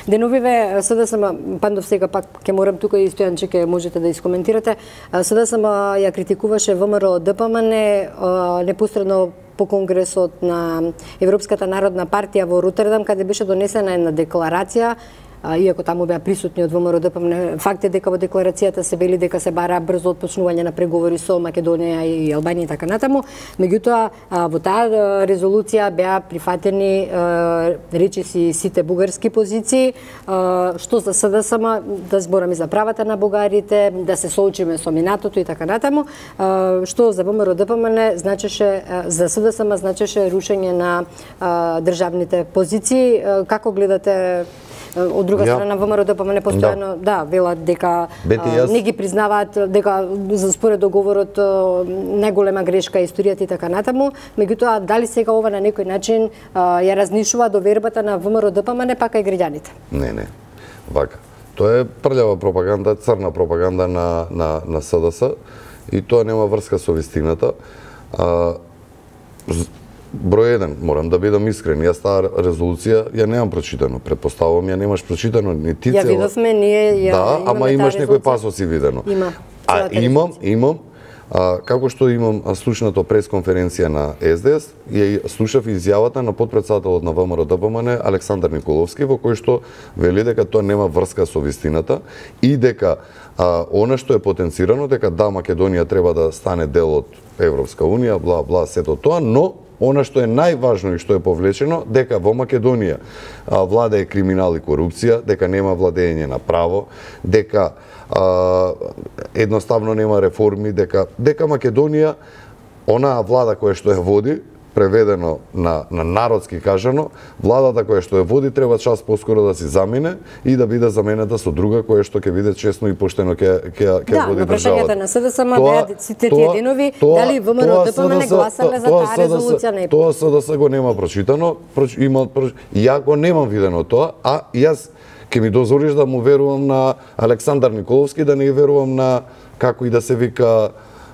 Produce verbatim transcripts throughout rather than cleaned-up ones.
Деновиве СДСМ, Пандов сега пак ќе морам тука и Стојанче ќе можете да искоментирате. СДСМ ја критикуваше ВМРО ДПМН непосредно по конгресот на Европската народна партија во Ротердам, каде беше донесена една декларација, иако таму беа присутни од ВМРО ДПМН. Факт е дека во декларацијата се вели дека се бара брзо отпочнување на преговори со Македонија и Албанија и така натаму. Меѓутоа, во таа резолуција беа прифатени речиси сите бугарски позиции, што за СДСМ да збораме за правата на бугарите, да се соочиме со минатото и така натаму, што за ВМРО ДПМН значеше, за СДСМ значеше рушење на државните позиции. Како гледате? Од друга ja. страна, ВМРО ДПМН постојано, да, да велат дека Бети, а, јас... не ги признаваат, дека за според договорот најголема грешка е историјата и така натаму. Меѓутоа, дали сега ова на некој начин а, ја разнишува довербата на ВМРО ДПМН, пака и граѓаните? Не, не. Вака. Тоа е прљава пропаганда, црна пропаганда на, на, на СДС и тоа нема врска со вистината. А, Број еден, морам да бидам искрен, јас таа резолуција ја немам прочитано, предпоставувам ја немаш прочитано, ни ти цела. Ја видовме, ние ја да, ама имаш некој пасоси видено. Има. А имам, имам, а, како што имам слушнато пресконференција на СДС, ја слушав изјавата на потпредседателот на ВМРО ДПМН Александар Николовски, во кој што вели дека тоа нема врска со вистината и дека а, она што е потенцирано, дека да, Македонија треба да стане дел од Европска унија, бла, бла, сето тоа, но она што е најважно и што е повлечено, дека во Македонија а, владее криминал и корупција, дека нема владење на право, дека а, едноставно нема реформи, дека дека Македонија, онаа влада која што ја води, преведено на, на народски кажано, владата која што ја води треба час поскоро да си замине и да биде заменета со друга која што ќе биде честно и поштено ќе ќе ќе да, води државата. Да, прашањата на СДСМ беа сите тие денови, дали ВМРО ДПМН гласале за таа резолуција, не? Тоа СДС го нема прочитано, проч, има проч, ја го немам видено тоа, а јас ќе ми дозволиш да му верувам на Александар Николовски, да не верувам на како и да се вика.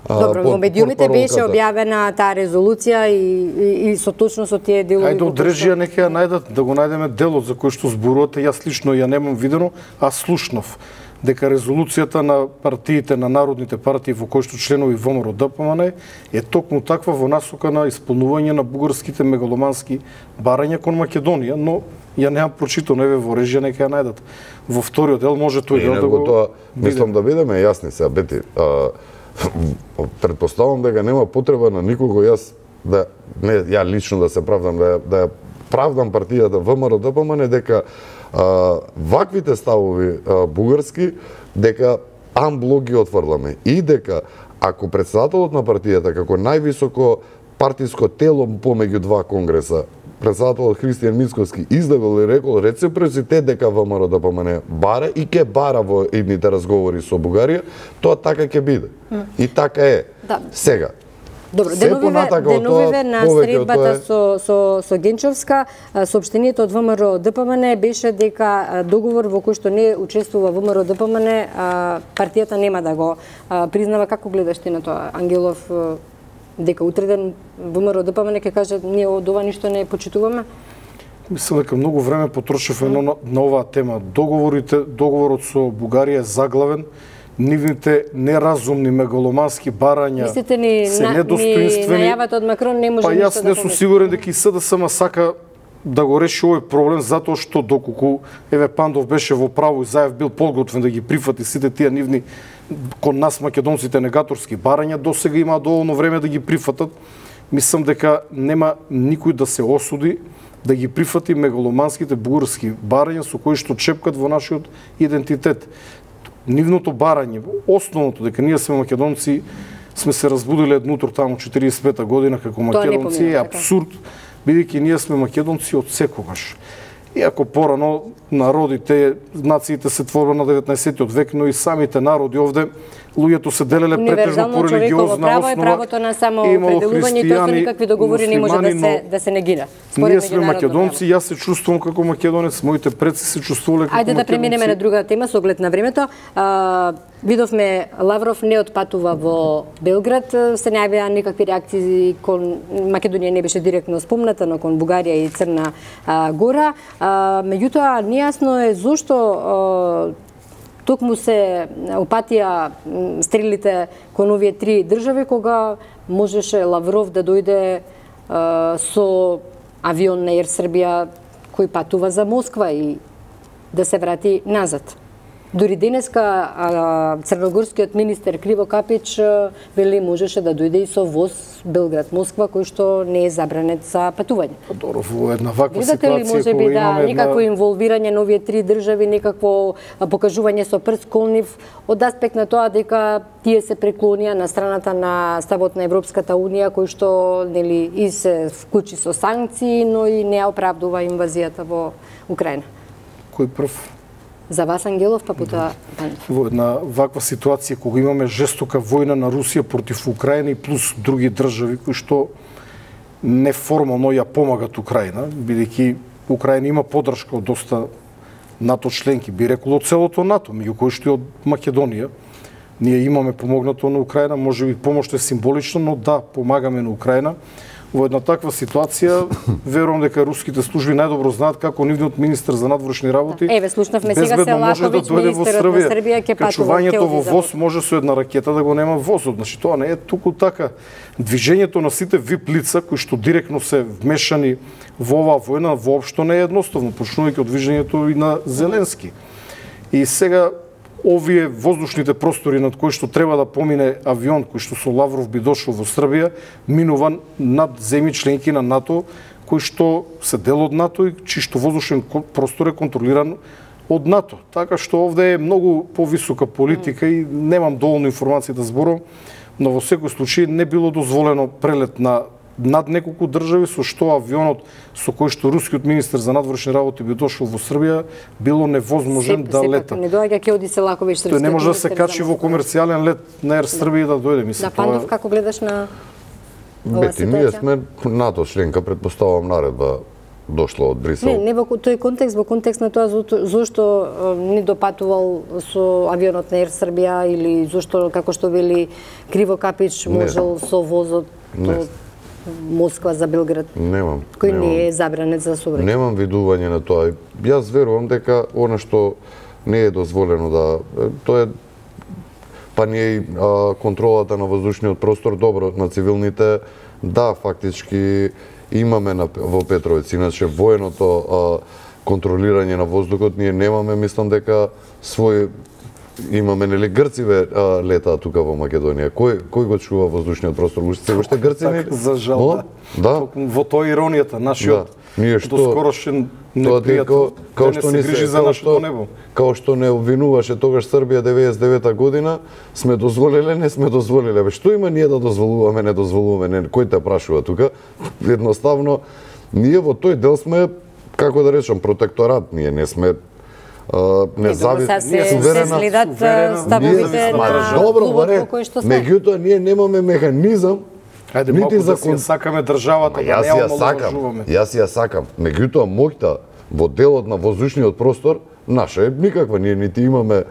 Добро, во медиумите беше објавена таа резолуција и, и, и со точно со тие делови. Ајде одржија нека ја најдат, да го најдеме делот за кој што зборувате. Јас лично ја немам видено, а слушнав дека резолуцијата на партиите, на народните партии во кои што членови ВМРО ДПМН е токму таква во насока на исполнување на бугарските мегаломански барања кон Македонија, но ја немам прочитано, еве во режија нека ја најдат. Во вториот дел може тој дел да го тоа, мислам да бидеме јасни сега, Бети. А, предпоставам дека нема потреба на никого јас да не ја лично да се правдам, да да ја правдам партијата ВМРО ДПМН дека а, ваквите ставови а, бугарски дека амблок ги отврламе и дека ако председателот на партијата како највисоко партиско тело помеѓу два конгреса, председателот Христијан Мицковски издавил и рекол реципроцитет дека ВМРО ДПМН бара и ќе бара во идните разговори со Бугарија, тоа така ќе биде. Mm. И така е. Да. Сега. Добро, деновиве, деновиве на средбата е... со, со, со Генчовска, соопштението од ВМРО ДПМН беше дека договор во кој што не учествува ВМРО ДПМН, партијата нема да го признава. Како гледаш ти на тоа, Ангелов? Дека утре ден ВМРО ДПМН ќе каже ние од ова ништо не почитуваме? Мислам дека многу време потрошивме на, на оваа тема. Договорите, договорот со Бугарија е заглавен, нивните неразумни мегаломански барања ни, се на, недостоинствени. Ни најавата од Макрон не може па ништо јас да не сум сигурен дека и СДСМ сака да го реши овој проблем, затоа што доколку еве Пандов беше во право и Заев бил подготвен да ги прифати сите тие нивни кон нас македонците негаторски барања, досега има доволно време да ги прифатат. Мислам дека нема никој да се осуди да ги прифати мегаломанските бугарски барања со кои што чепкат во нашиот идентитет. Нивното барање, основното дека ние сме македонци, сме се разбудиле еднутро таму четириесет и пета година како македонци, е апсурд, бидејќи ние сме македонци од секогаш. Иако порано народите, нациите се творба на деветнаесеттиот век, но и самите народи овде луѓето се делеле претежно по религиозна право основа. Е правото на самоопределување и тоа со никакви договори не може да се да се негира. Ние сме македонци, јас се чувствувам како македонец, моите предци се чувствувале како македонци. Ајде да преминеме на друга тема со оглед на времето. А, видовме Лавров не отпатува во Белград, се не јавија никакви реакции кон Македонија, не беше директно спомната, но кон Бугарија и Црна а, Гора. А, меѓутоа нејасно е зошто а, токму се опатија стрелите кон овие три држави, кога можеше Лавров да дојде а, со авион на Ер Србија кој патува за Москва и да се врати назад. Дури денеска а, црногорскиот министер Криво Капич вели можеше да дојде и со воз Белград-Москва, кој што не е забранет за патување. Добро, во една ваква ситуација ситуација ли може би да никакво инволвирање на овие три држави, никакво покажување со прст кон нив од аспект на тоа дека тие се преклонија на страната на ставот на Европската унија, кој што нели и се вклучи со санкции, но и не оправдува инвазијата во Украина. Кој прв? За вас, Ангелов, па потоа Пандов. Во една ваква ситуација кога имаме жестока војна на Русија против Украина и плюс други држави кои што неформално ја помагат Украина, бидејќи Украина има поддршка од доста НАТО членки, би рекол од целото НАТО, меѓу кои што и од Македонија. Ние имаме помогнато на Украина, можеби помошта е символична, но да, помагаме на Украина. Во една таква ситуација, верувам дека руските служби најдобро знаат како нивниот министер за надворешни работи Еве, слушнавме сега Селаковиќ, да министерот на Србија, ќе патува качувањето во воз може со една ракета да го нема возот. Значи тоа не е туку така. Движењето на сите вип лица кои што директно се вмешани во оваа војна воопшто не е едноставно, почнувајќи од движењето и на Зеленски. И сега овие воздушните простори над кои што треба да помине авион кој што со Лавров би дошол во Србија, минува над земји членки на НАТО, кои што се дел од НАТО и чиј што воздушен простор е контролиран од НАТО. Така што овде е многу повисока политика и немам доволно информации да зборам, но во секој случај не било дозволено прелет на над неколку држави, со што авионот со кој што рускиот министер за надворешни работи би дошол во Србија било невозможен да лета. Не доаѓа ќе оди Селаковиќ, Тој не може да се качи во комерцијален лет на Ер Србија да дојде, мислам. Да, Пандов, како гледаш на оваа ситуација? Ние сме НАТО членка, предпоставувам наредба дошла од Брисел. Не, не во тој контекст, во контекст на тоа зошто не допатувал со авионот на Ер Србија или зошто, како што вели Криво Капич, можел со возот до Москва за Белград, немам, кој немам, не е забранет за сообраќај. Немам видување на тоа. Јас верувам дека она што не е дозволено да тоа е па не е контролата на воздушниот простор добро на цивилните, да, фактички имаме на, во Петровец, иначе военото а, контролирање на воздухот ние немаме, мислам дека свој имаме, нели, грциве а, летаат тука во Македонија. Кој кој го чува воздушниот простор? Уште уште грци? За жал, да. Во тоа иронијата нашиот. Да. Ние што доскорошен непријател као што не се грижи за нашето небо. Као што не обвинуваше тогаш Србија деветдесет и девета година, сме дозволиле, не сме дозволиле. Бе, што има ние да дозволуваме, не дозволуваме, не, кој те прашува тука? Едноставно, ние во тој дел сме, како да речам, протекторат, ние не сме независни, суверена, се следат ставовите на добро, баре, меѓутоа ние немаме механизам. Ајде малку да си ја сакаме државата, да не ја сакам. Јас ја сакам. Меѓутоа моќта во делот на воздушниот простор наша е никаква. Ние нити имаме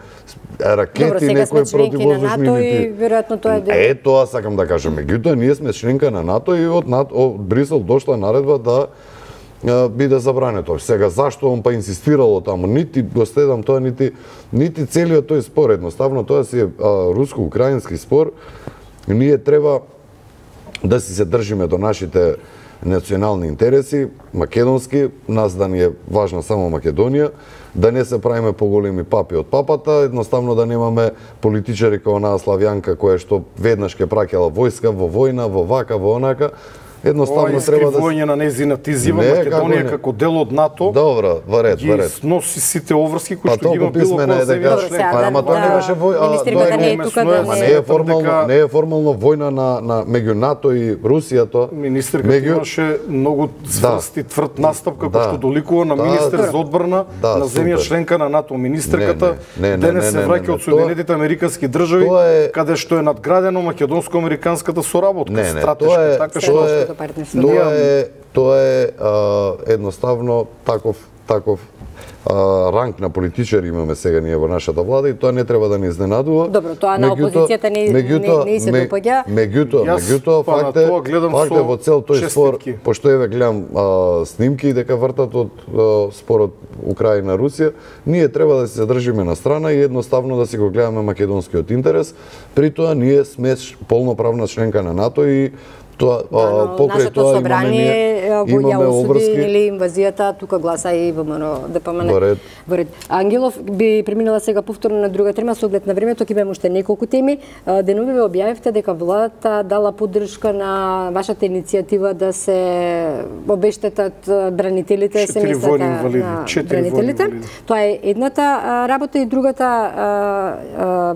ракети, некои противвоздушни, нити. Веројатно тоа е дел. Е, тоа сакам да кажам. Меѓутоа ние сме членка на НАТО и од НАТО, од Брисел дошла наредба да биде забрането. Сега зашто он па инсистирало таму, нити го следам тоа, нити нити целиот тој спор, едноставно тоа си е руско-украински спор. Ние треба да си се држиме до нашите национални интереси, македонски, нас да ни е важна само Македонија, да не се правиме поголеми папи од папата, едноставно да немаме политичари како онаа Славјанка која што веднаш ќе праќала војска во војна, во вака, во онака. Едноставно треба да искривување на нејзината изјава Македонија како дел од НАТО. Добро, во ред, во ред. Сноси сите обврски кои што ги има било која земја член. Па ама тоа не беше војна. Не е формално, не е формално војна на на меѓу НАТО и Русија тоа. Министерката имаше многу цврст и тврд настап како што доликува на министер за одбрана на земја членка на НАТО. Министерката денес се враќа од Соединетите американски држави каде што е надградено македонско-американската соработка, стратешка, така што Тоа е, тоа е а, едноставно таков таков а, ранг на политичари имаме сега ние во нашата влада и тоа не треба да ни изненадува. Добро, тоа на опозицијата не не, не се допаѓа. Меѓутоа, меѓутоа факт е, факт е во цел тој спор, пошто еве гледам а, снимки дека вртат од а, спорот Украина Русија, ние треба да се задржиме на страна и едноставно да си го гледаме македонскиот интерес. При тоа ние сме полноправна членка на НАТО и тоа да, покрај тоа имаме ние имаме обврски или инвазијата, тука гласа и ВМРО ДПМН. Во ред. Ангелов би преминала сега повторно на друга тема со оглед на времето, ќе имаме уште неколку теми. Денови ве објавивте дека владата дала поддршка на вашата иницијатива да се обештетат бранителите, семејствата на бранителите. Тоа е едната работа и другата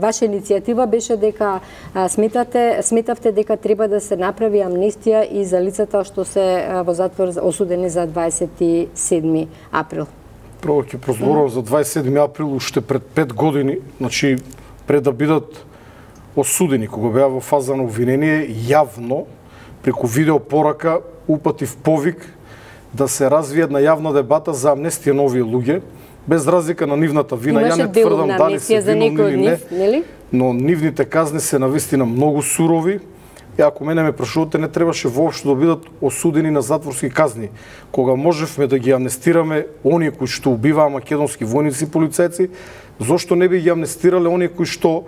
ваша иницијатива беше дека сметате сметавте дека треба да се направи амнестија и за лицата што се во затвор осудени за дваесет и седми април. Прво ќе прозборувам за дваесет и седми април уште пред пет години, значи пред да бидат осудени, кога беа во фаза на обвинение, јавно преку видео порака упатив повик да се развие една јавна дебата за амнестија на овие луѓе, без разлика на нивната вина. Ја не тврдам дали се виновни или не, но нивните казни се навистина многу сурови. И ако мене ме прашувате, не требаше воопшто да бидат осудени на затворски казни. Кога можевме да ги амнестираме оние кои што убиваа македонски војници и полицајци, зошто не би ги амнестирале оние кои што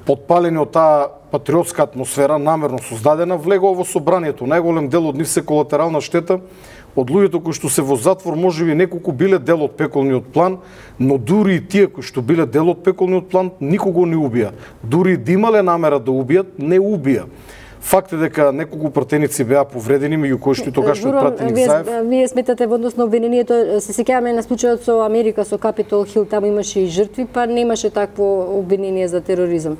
подпалени од таа патриотска атмосфера, намерно создадена, влегоа во собранието. Најголем дел од нив се колатерална штета. Од луѓето кои што се во затвор, можеби неколку биле дел од пеколниот план, но дури и тие кои што биле дел од пеколниот план, никого не убија. Дури да имале намера да убијат, не убија. Факт е дека неколку пратеници беа повредени, меѓу кои што и тогашниот пратеник Заев. Вие сметате во однос на обвинението, се сеќаваме на случајот со Америка, со Капитол Хил, таму имаше и жртви, па немаше такво обвинение за тероризам.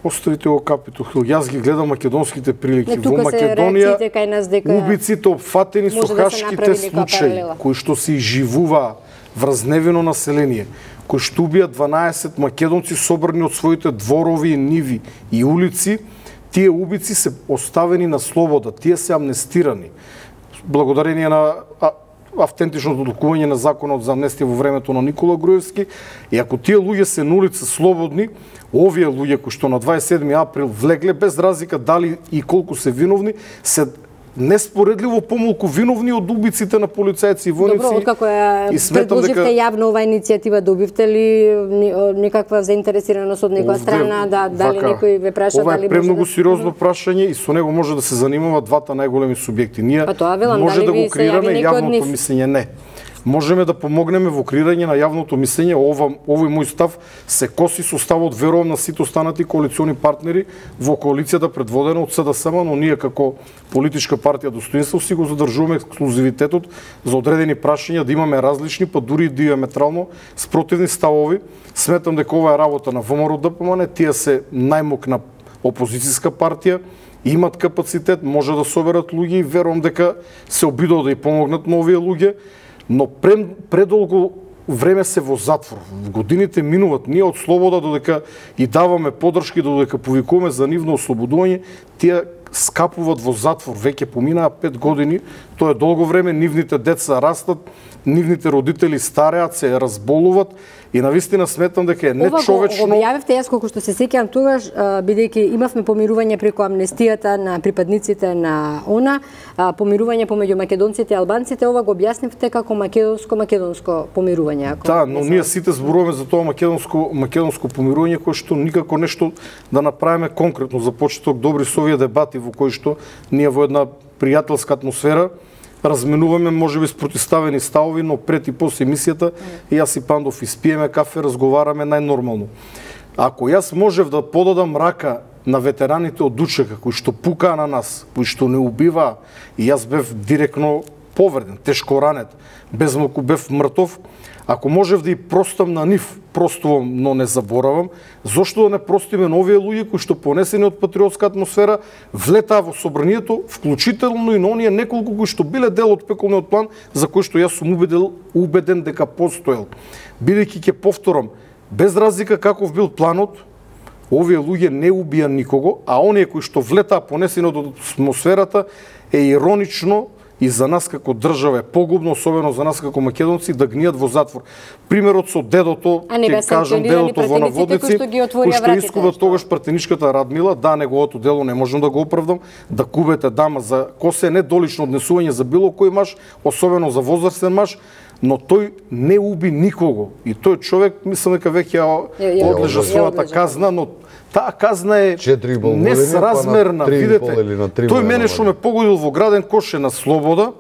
Оставите го Капитол Хил. Јас ги гледам македонските прилики. Не, во Македонија кај нас дека убиците опфатени со хашките случаи, кои што се изживуваа врз невино население, кои што убијат дванаесет македонци собрани од своите дворови, ниви и улици, тие убици се оставени на слобода, тие се амнестирани. Благодарение на автентичното толкување на законот за амнестија во времето на Никола Груевски, и ако тие луѓе се на улица слободни, овие луѓе кои што на дваесет и седми април влегле, без разлика дали и колку се виновни, се неспоредливо помалку виновни од убиците на полицајци и војници. Добро, откако ја предложивте дека... јавно оваа иницијатива, добивте ли некаква заинтересираност од некоја страна, да, дали вака, некој ве праша, ова дали е премногу да... сериозно прашање и со него може да се занимават двата најголеми субјекти. Ние па тоа, велам, може да го креираме јавното нив... мислење, не. Можеме да помогнеме во креирање на јавното мислење. Ова, овој мој став се коси со ставот, верувам, на сите останати коалициони партнери во коалицијата предводена од СДСМ, но ние како политичка партија Достоинство си го задржуваме ексклузивитетот за одредени прашања, да имаме различни, па дури диаметрално спротивни ставови. Сметам дека ова е работа на ВМРО ДПМН, тие се најмокна опозицијска партија, имат капацитет, може да соберат луѓе и верувам дека се обидува да и помогнат на овие луѓе. Но предолго време се во затвор. Годините минуваат, ние од слобода додека и даваме поддршки, додека повикуваме за нивно ослободување, тие скапуваат во затвор. Веќе поминаа пет години, тоа е долго време, нивните деца растат, нивните родители стареат, се разболуват и навистина сметам дека е нечовечно. Ова го објавивте, јас колку што се сеќавам тогаш, бидејќи имавме помирување преку амнестијата на припадниците на ОНА, помирување помеѓу македонците и албанците, ова го објаснивте како македонско-македонско помирување. Да, но ние сите зборуваме за тоа македонско македонско помирување кое што никако нешто да направиме конкретно. За почеток добри со овие дебати во кои што ние во една пријателска атмосфера разменуваме можеби спротивставени ставови, но пред и после емисијата mm. јас и Пандов испиеме кафе, разговараме најнормално. Ако јас можев да подадам рака на ветераните од УЧК, кои што пукаа на нас, кои што не убиваа, и јас бев директно повреден, тешко ранет, без малку бев мртов. Ако можев да и простам на нив, простувам, но не заборавам, зошто да не простиме на овие луѓе кои што понесени од патриотска атмосфера влетаа во собранието, вклучително и на оние неколку кои што биле дел од пеколниот план, за кој што јас сум убеден, убеден дека постоел. Бидејќи ќе повторам, без разлика каков бил планот, овие луѓе не убија никого, а оние кои што влетаа понесени од атмосферата е иронично и за нас како држава е погубно, особено за нас како македонци, да гнијат во затвор. Примерот со дедото, ќе кажам дедото во Наводници, кој што искува тогаш пратеничката Радмила, да, неговото дело не можам да го оправдам, да кубете дама за косе недолично однесување за било кој маж, особено за возрастен маж, но тој не уби никого. И тој човек, мислам дека веќе ја одлежа својата казна, но таа казна е несразмерна. Видете, тој мене што ме погодил во граден кош е на слобода,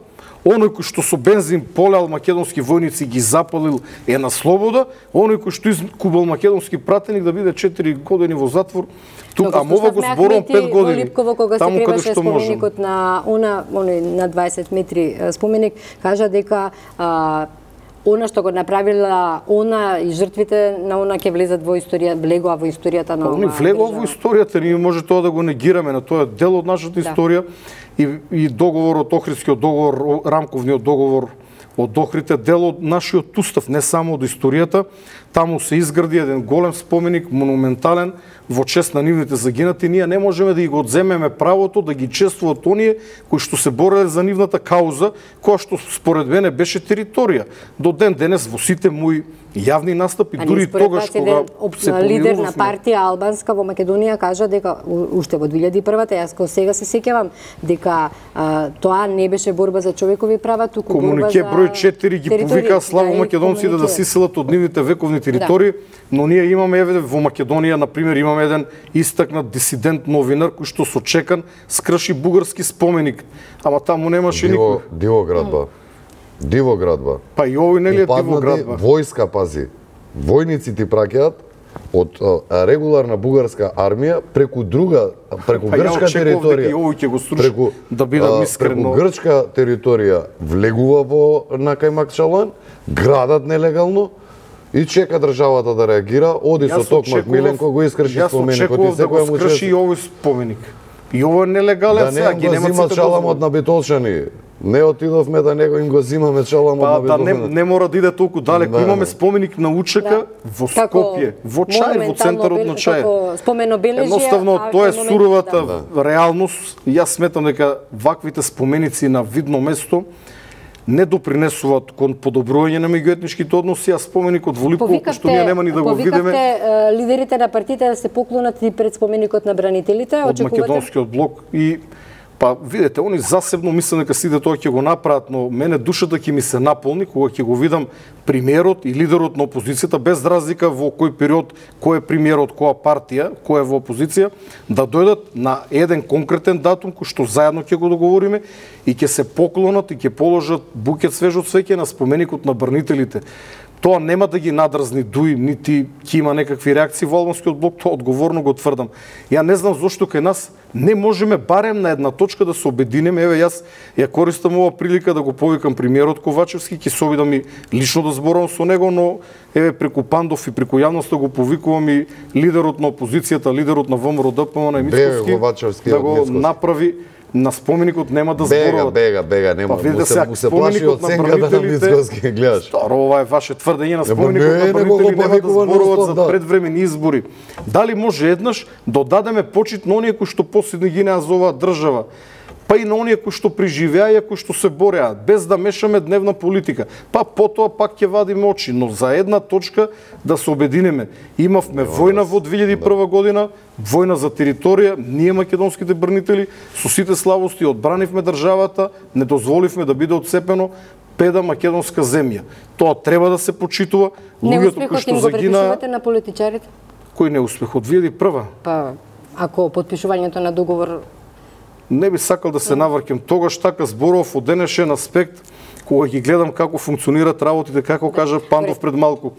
оној кој што со бензин полеал македонски војници ги запалил е на слобода, оној кој што изкубал македонски пратеник да биде четири години во затвор, тук, а мова го зборам пет години. Липково, кога се криваше споменикот на она, оној на дваесет метри споменик, кажа дека а, она што го направила она и жртвите на она ќе влезат во историја, влегоа во историјата на она. Они влегоа во историјата, ние може тоа да го негираме, на тоа е дел од нашата историја. И, и договорот, Охридскиот договор, рамковниот договор од Охрид е дел од нашиот устав, не само од историјата. Таму се изгради еден голем споменик, монументален, во чест на нивните загинати. Ние не можеме да ги го одземеме правото да ги чествуваат оние кои што се бореле за нивната кауза, која што според мене беше територија. До ден денес во сите мои јавни настапи, дури тогаш кога се помилувавме. Лидер на партија албанска во Македонија кажа дека уште во две илјади и прва, јас кога сега се сеќавам дека а, тоа не беше борба за човекови права, туку борба за комунике број четири ги повикаа слабо да, македонците да се иселат од нивните вековни територии, да. Но ние имаме еве во Македонија на пример имаме еден истакнат дисидент новинар кој што со чекан скрши бугарски споменик, ама таму немаше никој. Диво градба. Диво градба. Па и овој нели е диво градба. Војска, пази. Војници ти праќаат од а, регуларна бугарска армија преку друга, преку па грчка територија. Па ќе го слушам, преку да бидам искрен, преку грчка територија влегува во на Кајмакчалан, градат нелегално и чека државата да реагира, оди со Токмак Миленко го искрши споменикот и секој му скрши и овој споменик. И ово е нелегален, сега ги немат чаламот на битолчани. Не отидовме да него им го зимаме чаламот па, на битолчани. Да не, не мора да иде толку далеко. Да, имаме споменик на УЧК да. Во Скопје, во Чај, во центарот на Чај. Спомено бележје. Едноставно тоа е суровата да. реалност. Јас сметам дека ваквите споменици на видно место не допринесуваат кон подобрување на меѓуетничките односи, а споменикот во Липково, што ние нема ни да го видиме. Повикавте лидерите на партиите да се поклонат и пред споменикот на бранителите, од македонскиот блок и па видете, они засебно мислам дека сите тоа ќе го направат, но мене душата ќе ми се наполни кога ќе го видам премиерот и лидерот на опозицијата, без разлика во кој период, кој е премиерот, која партија, кој е во опозиција, да дојдат на еден конкретен датум кој што заедно ќе го договориме и ќе се поклонат и ќе положат букет свежо цвеќе на споменикот на бранителите. Тоа нема да ги надразни дуи, нити ќе има некакви реакции во албанскиот блок, тоа одговорно го тврдам. Ја не знам зошто кај нас не можеме барем на една точка да се обединеме. Еве јас ја користам ова прилика да го повикам премиерот Ковачевски, ќе се обидам и лично да зборувам со него, но еве преку Пандов и преку јавноста го повикувам и лидерот на опозицијата, лидерот на ВМРО Д П М на Мицковски да го направи. На споменикот нема да зборуват. Бега, бега, бега, нема. Па му се, му се плаши од сенката на Мицковски, гледаш. Старо, ова е ваше тврдење, на споменикот на бранители нема да зборуват за предвремени избори. Дали може еднаш да дадеме почит на оние кои што последни ги неа за оваа држава, па и на оние кои што преживеа и кои што се бореа, без да мешаме дневна политика. Па потоа пак ќе вадиме очи, но за една точка да се обединеме. Имавме војна во две илјади и прва година, војна за територија, ние македонските бранители со сите слабости одбранивме државата, не дозволивме да биде отцепено педа македонска земја. Тоа треба да се почитува. Луѓето кои што загина на политичарите. Кој неуспех од две илјади и прва? Па ако потпишувањето на договор не би сакал да се навркем тогаш, така зборував од денешен аспект, кога ги гледам како функционираат работите, како кажа Пандов пред малку,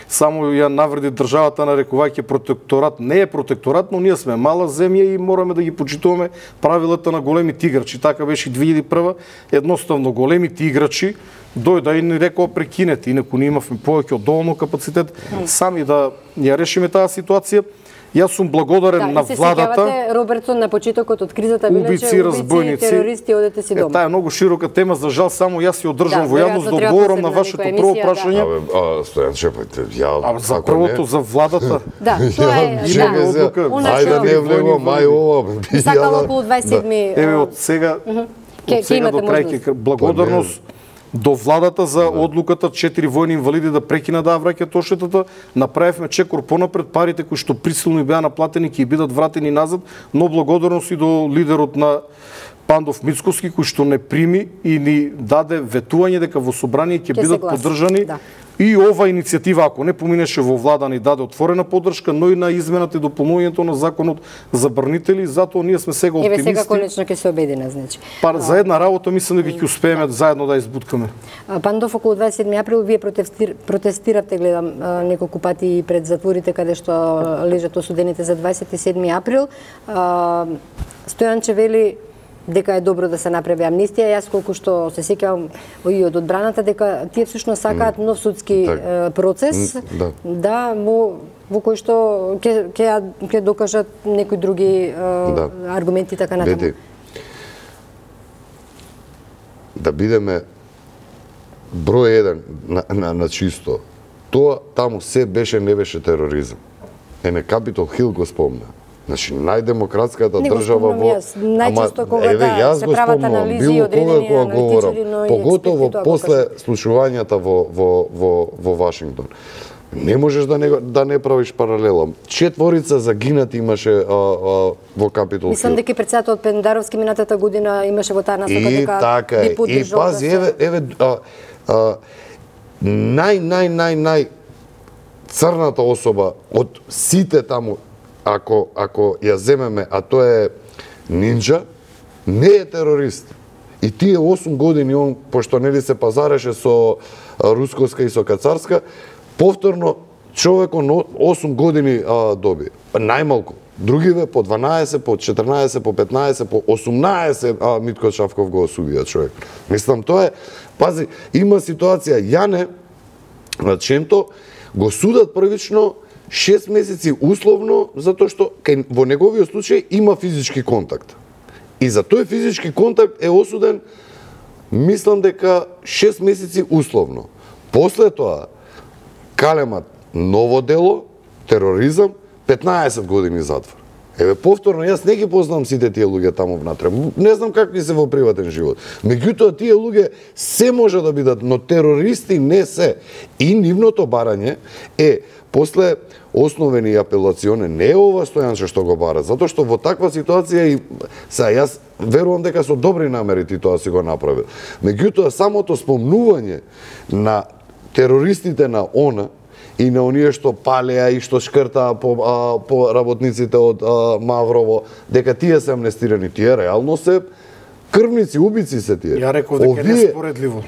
само ја навреди државата нарекувајќи протекторат. Не е протекторат, но ние сме мала земја и мораме да ги почитуваме правилата на големите играчи. Така беше и две илјади и прва. Едноставно големите играчи дојда и ни рекоа прекинете, инаку ние имавме повеќе од доволно капацитет сами да ја решиме таа ситуација. Јас сум благодарен да, на владата. Да, Робертсон на почетокот од кризата биле убици, разбойници, терористи, одете си дома. Е, таа е многу широка тема, за жал само јас ја одржам да, во јавност да одговорам на вашето прво прашање. Да. Абе, Стојан Чепајте, ја а, за првото за владата. Да, тоа е да. Ајде не влего мај ова. Сакала околу дваесет и седми. Еве од сега од сега до крај благодарност до владата за одлуката четири војни инвалиди да прекинат да враќаат одштетата. Направивме чекор понапред, парите кои што присилно и беа наплатени ќе бидат вратени назад, но благодарност и до лидерот на Пандов Мицкоски кој што не прими и ни даде ветување дека во собрание ќе бидат поддржани. Да. И ова иницијатива, ако не поминеше во влада, ни даде отворена поддршка, но и на измената и дополнувањето на законот за брнители, затоа ние сме сега оптимисти. Еве сега конечно ќе се обедине, значи. Па за една работа мислам дека ќе успееме заедно да избуткаме. Пандов, околу дваесет и седми април вие протестир, протестиравте, гледам, неколку пати пред затворите каде што лежат осудените за дваесет и седми април. Стојанче вели дека е добро да се направи амнистија. Јас колку што се сеќавам и од одбраната дека тие всушност сакаат нов судски так. процес, да, да во, во кој што ќе ќе ќе докажат некои други да. аргументи така натаму. Види, да бидеме број еден на, на, на чисто. Тоа таму се беше не беше тероризам. Ене Капитол Хил го спомна. Значи, најдемократската држава во... Најчесто кога еве, да се прават анализи и одредени аналитичари, но поготово после слушувањата во, во, во, во Вашингтон. Не можеш да не, да не правиш паралела. Четворица загинати имаше а, а, во Капитол Хил. Мислам дека председател Пендаровски минатата година имаше во таа насока дека така би поддржал. И пази, еве, еве, а, а, нај, нај, нај, нај црната особа од сите таму, ако ако ја земеме, а тоа е Нинџа, не е терорист. И тие осум години он, пошто нели се пазареше со рускоска и со кацарска, повторно човекот осум години а, доби. Најмалку. Другиве по дванаесет, по четрнаесет, по петнаесет, по осумнаесет а, Митко Шавков го осудија човек. Мислам, тоа е, пази, има ситуација, Јане на Ченто го судат првично шест месеци условно, затоа што кај, во неговиот случај има физички контакт. И за тој физички контакт е осуден, мислам дека шест месеци условно. После тоа, калемат ново дело, тероризам, петнаесет години затвор. Еве, повторно, јас не ги познам сите тие луѓе таму внатре. Не знам какви се во приватен живот. Меѓутоа, тие луѓе се може да бидат, но терористи не се. И нивното барање е, после основен и апелационен, не е ова Стојанче што го бара, затоа што во таква ситуација и са јас верувам дека со добри намери ти тоа си го направил. Меѓутоа, самото спомнување на терористите на ОНА и на оние што палеа и што шкртаа по, а, по работниците од а, Маврово, дека тие се амнестирани, тие реално се крвници, убици се тие. Ја реков дека Овие... не споредливо.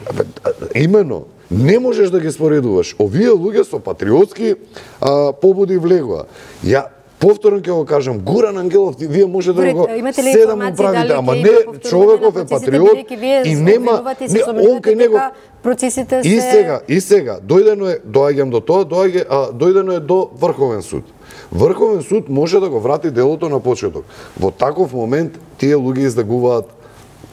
Имено, не можеш да ги споредуваш. Овие луѓе со патриотски а, побуди влегоа. Ја повторно ќе го кажам, Гуран Ангелов, вие може да го седам управите, ама не, човеков е патриот и нема, не, он кај него, процесите се... И сега, и сега, дојдено е, доаѓам до тоа, доаѓа, а, дојдено е до Врховен суд. Врховен суд може да го врати делото на почеток. Во таков момент тие луѓе издагуваат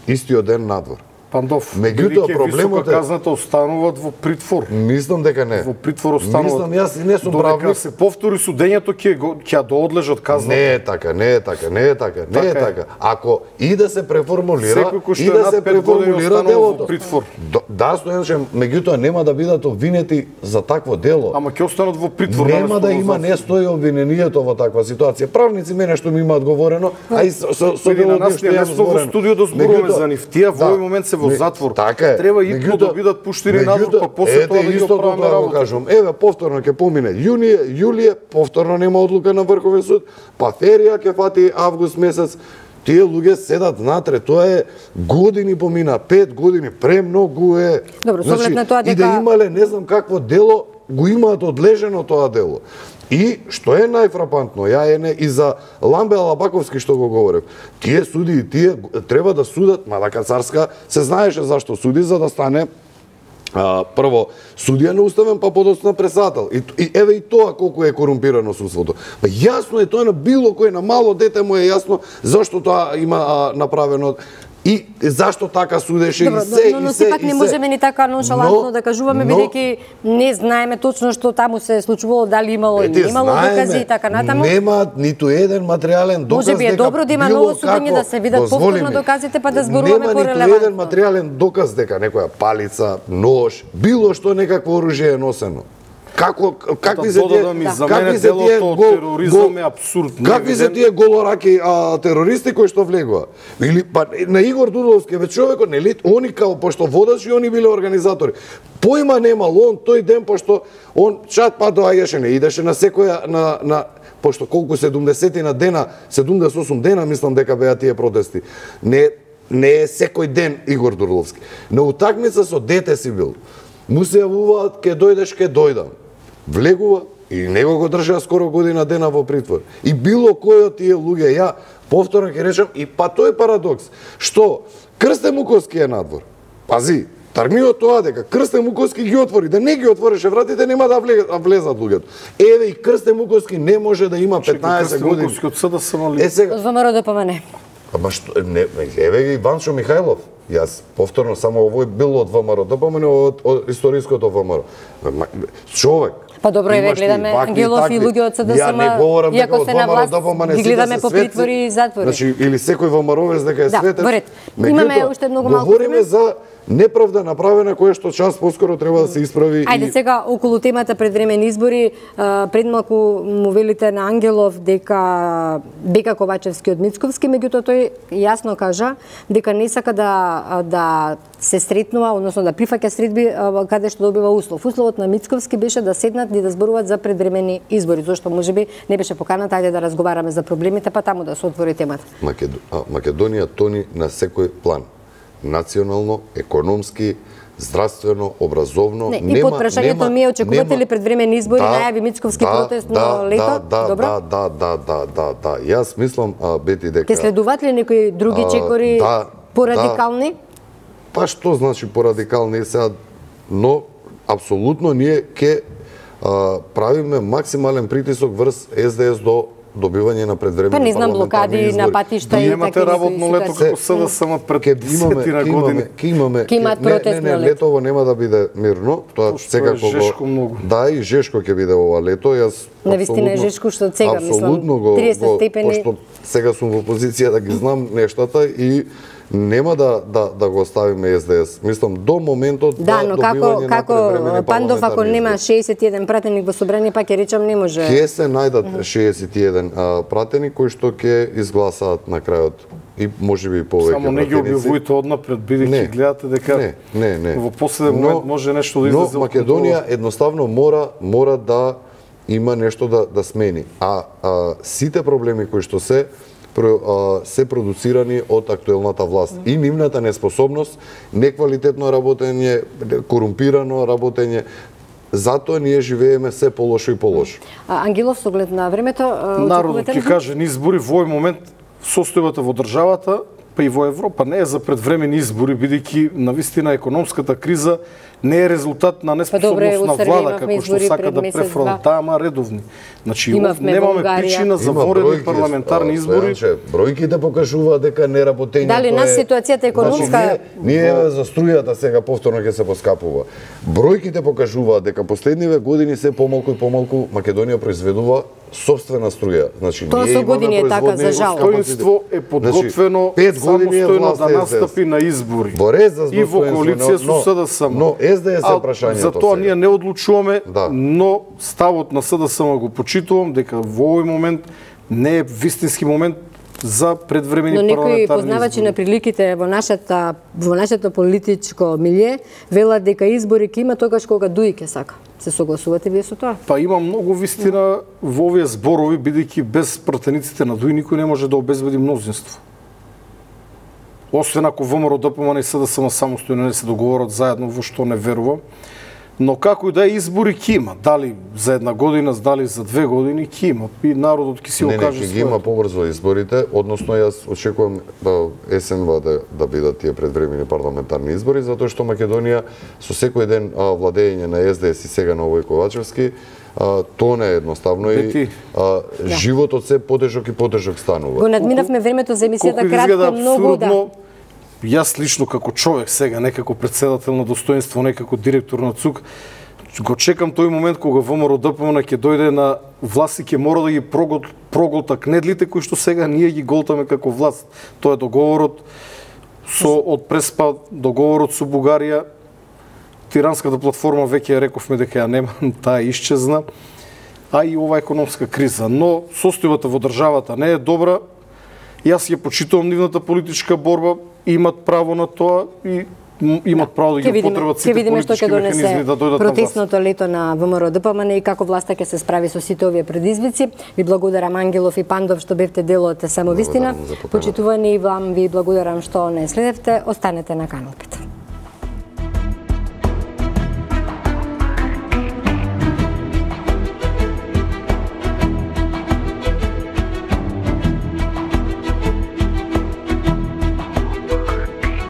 истиот ден надвор. Пандов, меѓутоа проблемот е казната остануваат во притвор. Мислам дека не. Во притвор остануваат. Мислам јас и не сум правник. Додека се повтори судењето ќе ќе доодлежат казната. Не е така, не е така, не е така, не е така. Ако и да се преформулира, и да се преформулира делото. Притвор. Да, Стојанче, меѓутоа нема да бидат обвинети за такво дело. Ама ќе останат во притвор. Нема да има, не стои обвинението во таква ситуација. Правници мене што ми имаат говорено, а и со со со дело што ја во студио да зборуваме за нив. Тие во овој момент се во затвор. Така е. Треба и да бидат пуштени надвор, па после тоа да ги оправиме работа. Кажам, еве повторно ќе помине јунија, јулија, повторно нема одлука на Врховен суд, па ферија ќе фати август месец. Тие луѓе седат натре, тоа е години помина, пет години, премногу е. Добро, со оглед на тоа дека и да имале не знам какво дело, го имаат одлежено тоа дело. И што е најфрапантно, ја е и за Ламбе Алабаковски што го говорев. Тие суди, тие треба да судат, мада Кацарска се знаеше зашто суди, за да стане А, прво судија на уставен, па подоцна председател. И, и еве и тоа колку е корумпирано судството. Па јасно е тоа на било кој, на мало дете му е јасно зашто тоа има а, направено и зашто така судеше. Добро, и се, но, но, но и се, сепак и не се. можеме ни така ноншалантно но, да кажуваме, но, бидејќи не знаеме точно што таму се случувало, дали имало или имало докази и така натаму. Нема ниту еден материјален доказ. Може би е добро да има ново судење, да се видат повторно доказите, па да зборуваме порелевантно. Нема ниту еден материјален доказ дека некоја палица, нож, било што некакво оружје е носено. Како какви се тие за мене делото од тероризам е апсурдно. Какви се тие голораки а, терористи кои што влегува? Или па на Игор Дудовски бе човекот, нели они као пошто водачи, они биле организатори. Поима немал он тој ден пошто он чат па доаѓаше, не идеше на секоја на на пошто колку седумдесет на дена, седумдесет и осум дена мислам дека беа тие протести. Не не е секој ден Игор Дудовски. На утакмица со дете си бил. Му се јавуваат, ке дојдеш, ке дојдам. Влегува и него го држаа скоро година дена во притвор. И било кој од тие луѓе, ја повторно ќе речам, и па тој парадокс, што Крстен Муковски е надвор. Пази, тармиот тоа дека Крстен Муковски ги отвори, да не ги отвореше вратите, нема да влезат луѓето. Еве и Крстен Муковски не може да има петнаесет години. Крстен Муковски од СДСМ ли? Е сега. Од ВМРО да помане. Ама што не, еве ги Иванчо Михајлов. Јас повторно само овој бил од ВМРО, да помене од, од историското ВМРО. Човек. Па добро, еве гледаме Ангелов и луѓе од СДСМ, иако се на власт, ги гледаме по притвори и затвори. Значи, или секој ВМРО-вец дека е да, светец. Да, имаме уште многу малку време. Говориме за неправда направена која што час поскоро треба да се исправи. Ајде и... сега околу темата предвремени избори, пред малку му велите на Ангелов дека Бека Ковачевски од Мицковски, меѓутоа тој јасно кажа дека не сака да да се сретнува, односно да прифаќа средби каде што добива услов. Условот на Мицковски беше да седнат и да зборуваат за предвремени избори, зашто можеби не беше поканата, ајде да разговараме за проблемите, па таму да се отвори темата. Македо... Македонија тони на секој план. Национално, економски, здравствено, образовно, не, нема, и под прашањето ми е очекувате ли предвремени избори, да, најави Мицковски да, протест да, на лето? Да, Добро? да, да, да, да, да, да. Јас мислам, а, Бети, дека... Ке следуваат ли некои други чекори да, порадикални? Да. Па што значи порадикални сега, но апсолутно ние ке а, правиме максимален притисок врз СДС до добивање на предвремени па не знам блокади на патишта и такви. Имате работно лето како СДСМ пред десетина години. Ке имаме, ке имаат протестно лето. Не, не, летово нема да биде мирно, тоа секако жешко многу. Да, и жешко ќе биде ова лето. Јас навистина е жешко што сега мислам триесет степени. Пошто сега сум во позиција да ги знам нештата и нема да да да го оставиме СДС. Мислам до моментот да, да но добивање како како Пандов ако нема шеесет и еден пратеник во собрание, па ќе речам не може. Ќе се најдат шеесет и еден а, пратени кои што ќе изгласаат на крајот и можеби повеќе. Само не ги објавувајте однапред, бидејќи гледате дека не, не, не. во последен момент може нешто да излезе. Но Македонија едноставно мора мора да има нешто да да смени. А, а сите проблеми кои што се се продуцирани од актуелната власт и нивната неспособност, неквалитетно работење, корумпирано работење. Затоа ние живееме се полошо и полошо. А Ангелов, со оглед на времето, народот ќе каже ни избори во овој момент состојбата во државата, па и во Европа не е за предвремени избори, бидејќи навистина економската криза не е резултат на неспособност на влада како што сака да префронта, ама редовни. Значи немаме причина за воредни парламентарни избори. Бројките покажуваат дека неработењето е. Дали нас ситуацијата економска ние за струјата сега повторно ќе се поскапува. Бројките покажуваат дека последниве години се помалку и помалку Македонија произведува собствена струја. Значи тоа со години е така за жал. Достоинство е подготвено самостојно да настапи на избори. И во коалиција со СДСМ. Но СДС е прашањето. За тоа ние не одлучуваме, но ставот на СДСМ го почитувам дека во овој момент не е вистински момент за предвремени парламентарни избори. Но некои познавачи на приликите во нашата во нашето политичко милје велат дека избори ќе има тогаш кога Дуи ќе сака. Се согласувате вие со тоа? Па има многу вистина во овие зборови, бидејќи без пратениците на Дуи никој не може да обезбеди мнозинство. освен ако ВМРО ДПМН и СДСМ самостојно не се договорат заедно, во што не верувам. Но како и да е, избори ќе има. Дали за една година, дали за две години ќе има. И народот ќе си го каже своето. Не, не, ќе ги има побрзо изборите, односно јас очекувам да есенва да, да бидат тие предвремени парламентарни избори, затоа што Македонија со секој ден а, владење на СДС и сега на Вој Ковачевски, а, тоа не е едноставно. Бети, и а, да. Животот се потежок и потежок станува. Го надминавме времето за емисијата кратко, многу да. Јас лично како човек сега, не како председател на достоинство, не како директор на ЦУК, го чекам тој момент кога ВМРО ДПМН ќе дојде на власт и ќе мора да ги прогол, проголта кнедлите кои што сега ние ги голтаме како власт. Тоа е договорот со од Преспа, договорот со Бугарија. Тиранската платформа веќе рековме дека ја нема, таа исчезна, а и ова економска криза. Но состојбата во државата не е добра. Јас ја почитувам нивната политичка борба, имат право на тоа и имат право да ги употребат сите политички механизми да дојдат на власт. Протестното лето на ВМРО ДПМН и како власта ќе се справи со сите овие предизвици. Ви благодарам Ангелов и Пандов што бевте дел од Самовистина. Почитувани и вам ви благодарам што не следевте. Останете на Канал пет.